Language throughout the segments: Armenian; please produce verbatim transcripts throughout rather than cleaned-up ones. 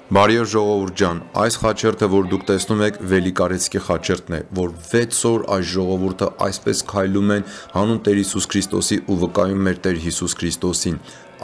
Բարև ժողովուրդ ջան, այս խաչերթը, որ դուք տեսնում եք, Վելիկարեցկի խաչերթն է, որ վեց օր այս ժողովուրդը այսպես քայլում են հանուն Տեր Հիսուս Քրիստոսի ու վկայում մեր Տեր Հիսուս Քրիստոսին։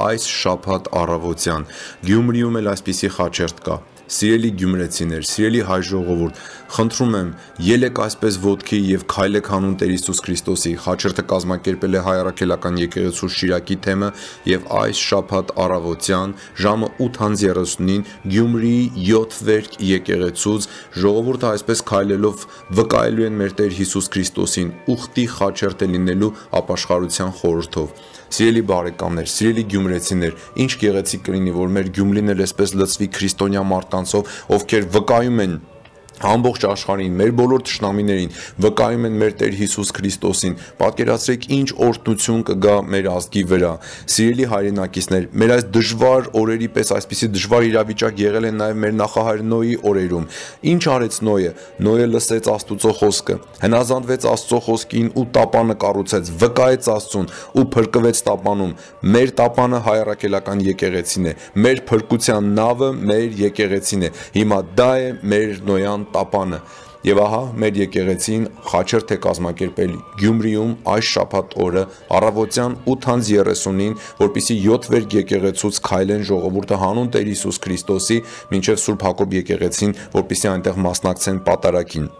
Այս շաբաթ առավոտյան Գյումրիում էլ այսպիսի խաչերթ կա։ Սիրելի գյումրեցիներ, սիրելի հայ ժողովուրդ, խնդրում եմ, ելեք այսպես ոտքի եւ քայլեք հանուն Տեր Հիսուս Քրիստոսի։ Խաչերթը կազմակերպել է Հայ Առաքելական եկեղեցու Շիրակի թեմը եւ այս շաբաթ առավոտյան ժամը ութ երեսունին Գյումրիի յոթ վերք եկեղեցուց ժողովուրդը այսպես քայլելով վկայելու են մեր Տեր Հիսուս Քրիստոսին, ուխտի խաչերթ է լինելու ապաշխարության խորհրդով։ Սիրելի բարեկամներ, սիրելի գյումրեցիներ, ինչ գեղեցիկ կլինի, որ մեր Գյումրին էլ այսպես լցվի քրիստոնյա մարդկանցով, ովքեր վկայում են ամբողջ աշխարհին, մեր բոլոր թշնամիներին, վկայում են մեր Տեր Հիսուս Քրիստոսին։ Պատկերացրեք ինչ օրհնություն կգա մեր ազգի վրա։ Սիրելի հայրենակիցներ, մեր այս դժվար օրերի պես այսպիսի դժվար իրավիճակ եղել է նաև մեր նախահայր Նոյի օրերում։ Ինչ արեց Նոյը։ Նոյը լսեց Աստծո խոսքը, հնազանդվեց Աստծո խոսքին ու տապանը կառուցեց, վկայեց Աստծուն ու փրկվեց տապանում։ Մեր տապանը Հայ Առաքելական եկեղեցին է, մեր փրկության նավը մեր եկեղեցին է։ Հիմա դա է մեր Նոյան տապանը։ Եվ ահա մեր եկեղեցին խաչերթ է կազմակերպել Գյումրիում այս շաբաթ օրը առավոտյան ութ երեսունին, որպեսզի յոթ վերք եկեղեցուց քայլեն ժողովուրդը հանուն Տեր Հիսուս Քրիստոսի մինչև Սուրբ Հակոբ եկեղեցին, որպեսզի այնտեղ մասնակցեն պատարագին։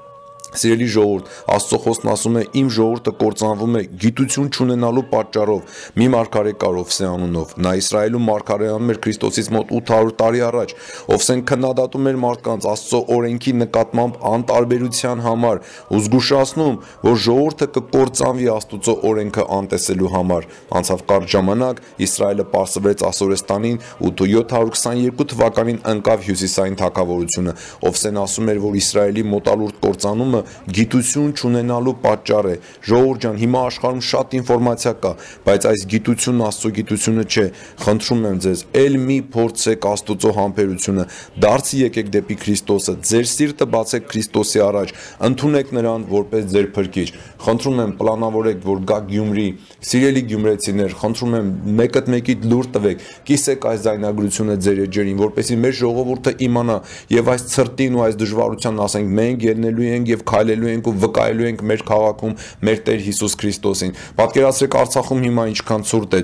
Սիրելի ժողովուրդ, Աստծո խոսքն ասում է, իմ ժողովուրդը կործանվում է գիտություն չունենալու պատճառով, մի մարգարե կար Ովսե անունով, նա Իսրայելում մարգարեանում էր Քրիստոսից մոտ ութ հարյուր տարի առաջ, Ովսեն քննադատում էր մարդկանց Աստծո օրենքի նկատմամբ անտարբերության համար ու զգուշացնում, որ ժողովուրդը կկործանվի Աստծո օրենքը անտեսելու համար։ Անցավ կարճ ժամանակ, Իսրայելը պարսվեց Ասորեստանին ու յոթ հարյուր քսաներկու թվականին ընկավ հյուսիսային թագավորությունը։ Ովսեն ասում էր, որ Իսրայելի մոտալուրդ կործանումը գիտություն չունենալու պատճառ է։ Ժողովուրդ ջան, հիմա աշխարհում շատ ինֆորմացիա կա, բայց այս գիտությունն Աստծո գիտությունը չէ։ Խնդրում եմ ձեզ, ել մի փորձեք Աստծո համբերությունը, դարձի եկեք դեպի Քրիստոսը, ձեր սիրտը բացեք Քրիստոսի առաջ, ընդունեք նրան որպես ձեր փրկիչ։ Խնդրում եմ, պլանավորեք, որ գաք Գյումրի, սիրելի գյումրեցիներ, խնդրում եմ, մեկդ մեկիդ լուր տվեք, կիսեք այս ձայնագրությունը ձեր էջերին, որպեսզի մեր ժողովուրդը իմանա եւ այս ցրտին ու այս դժվարությանն ասենք, մենք ելնելու ենք եւ քայլելու ենք ու վկայելու ենք մեր քաղաքում մեր Տեր Հիսուս Քրիստոսին։ Պատկերացրեք Արցախում հիմա ինչքան ցուրտ է,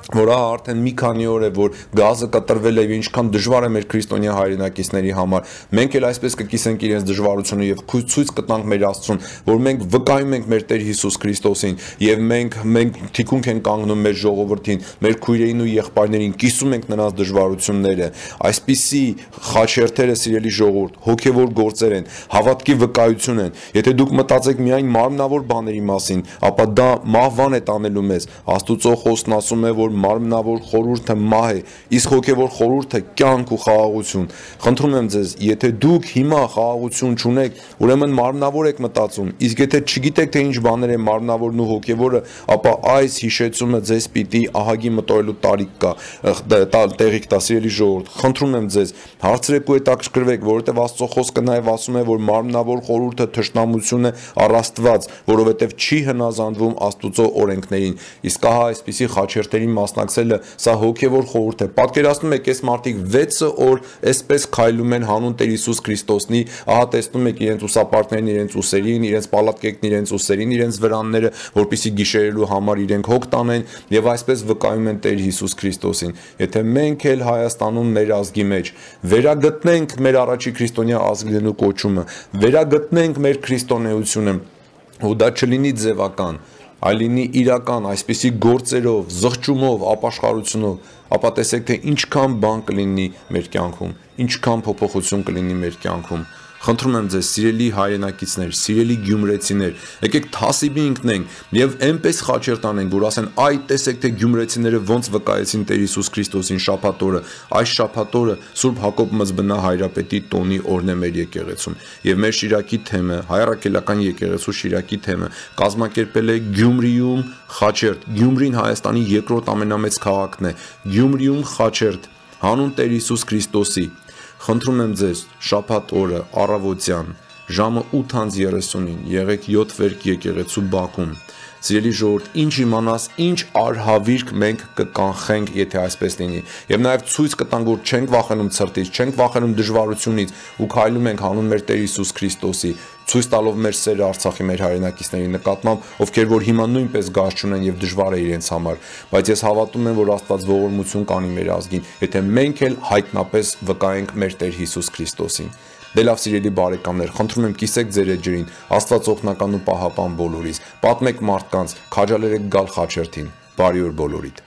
որ ահա արդեն մի քանի օր է, որ գազը կտրվել է եւ ինչքան դժվար է մեր քրիստոնյա հայրենակիցների համար։ Մենք էլ այսպես կկիսենք իրենց դժվարությունը եւ ցույց կտանք մեր Աստծուն, որ մենք վկայում ենք մեր Տեր Հիսուս Քրիստոսին եւ մենք մենք թիկունք ենք կանգնում մեր ժողովրդին, մեր քույրերին ու եղբայրներին, կիսում ենք նրանց դժվարությունները։ Այսպիսի խաչերթերը, սիրելի ժողովուրդ, հոգեվոր գործեր են, հավատքի վկայություն են։ Եթե դուք մտածեք միայն մարմնավոր բաների մասին, ապա դա մահվան է տանելու մեզ։ Աստծո խոսքն ասում է, որ մարմնավոր խորհուրդը մահ է, իսկ հոգևոր խորհուրդը կյանք ու խաղաղություն։ Խնդրում եմ ձեզ, եթե դուք հիմա խաղաղություն չունեք, ուրեմն մարմնավոր եք մտածում, իսկ եթե չգիտեք թե ինչ բաներ է մարմնավորն ու հոգևորը, ապա այս հիշեցումը ձեզ պիտի ահագի մտորելու տարիք կա, տեղիք տա, սիրելի ժողովուրդ։ Խնդրում եմ ձեզ, հարցրեք ու հետաքրքրվեք, որովհետև Աստծո խոսքը նաև ասում է, որ մարմնավոր խորհուրդը թշնամություն է առ Աստված, որովհետև չի հնազանդվում Աստծո օրենքներին։ Իսկ ահա այսպիսի խաչերթերի մասնակցելը սա հոգևոր խորհուրդ է։ Պատկերացնում եք, այս մարդիկ վեցը օր այսպես քայլում են հանուն Տեր Հիսուս Քրիստոսնի, ահա տեսնում եք իրենց ուսապարկներն, իրենց ուսերին, իրենց պալատկեքն իրենց ուսերին, իրենց վրանները, որպեսզի գիշերելու համար իրենք հոգ տանեն եւ այսպես վկայում են Տեր Հիսուս Քրիստոսին։ Եթե մենք էլ Հայաստանում մեր ազգի մեջ վերագտնենք մեր առաջի քրիստոնյա ազգներու կոչումը, վերագտնենք մեր քրիստոնեությունը, ու դա չլինի ձևական, այլ լինի իրական, այսպիսի գործերով, զղջումով, ապաշխարությունով, ապա տեսեք, թե ինչքան բան կլինի մեր կյանքում, ինչքան փոփոխություն կլինի մեր կյանքում։ Խնդրում եմ ձեզ, սիրելի հայրենակիցներ, սիրելի գյումրեցիներ, եկեք թասիբի ընկնենք եւ այնպես խաչերթ անենք, որ ասեն, այ տեսեք, թե գյումրեցիները ոնց վկայեցին Տեր Հիսուս Քրիստոսին շաբաթ օրը։ Այս շաբաթ օրը Սուրբ Հակոբ Մզբնա հայրապետի տոնի օրն է մեր եկեղեցում։ Եվ մեր Շիրակի թեմը, Հայ Առաքելական եկեղեցու Շիրակի թեմը կազմակերպել է Գյումրիում խաչերթ։ Գյումրին Հայաստանի երկրորդ ամենամեծ քաղաքն է։ Գյումրիում խաչերթ հանուն Տեր Հիսուս Քրիստոսի։ Խնդրում եմ ձեզ, շաբաթ օրը առավոտյան ժամը ութ երեսունին եղեք յոթ վերք եկեղեցու բակում։ Սիրելի ժողովուրդ, ինչ իմանաս, ինչ արհավիրք մենք կկանխենք, եթե այսպես լինի։ Եվ նաև ցույց կտանք, որ չենք վախենում ցրտից, չենք վախենում դժվարությունից ու քայլում ենք հանուն մեր Տեր Հիսուս Քրիստոսի, ցույց տալով մեր սերը Արցախի մեր հայրենակիցների նկատմամբ, ովքեր որ հիմա նույնպես գազ չունեն եւ դժվար է իրենց համար, բայց ես հավատում եմ, որ Աստված ողորմություն կանի մեր ազգին, եթե մենք էլ հայտնապես վկայենք մեր Տեր Հիսուս Քրիստոսին։ Դե լավ սիրելի բարեկամներ, խնդրում եմ կիսեք ձեր էջերին, Աստված օգնական ու պահապան բոլորիս, պատմեք մարդկանց, քաջալերեք գալ խաչերթին, բարի օր բոլորիդ։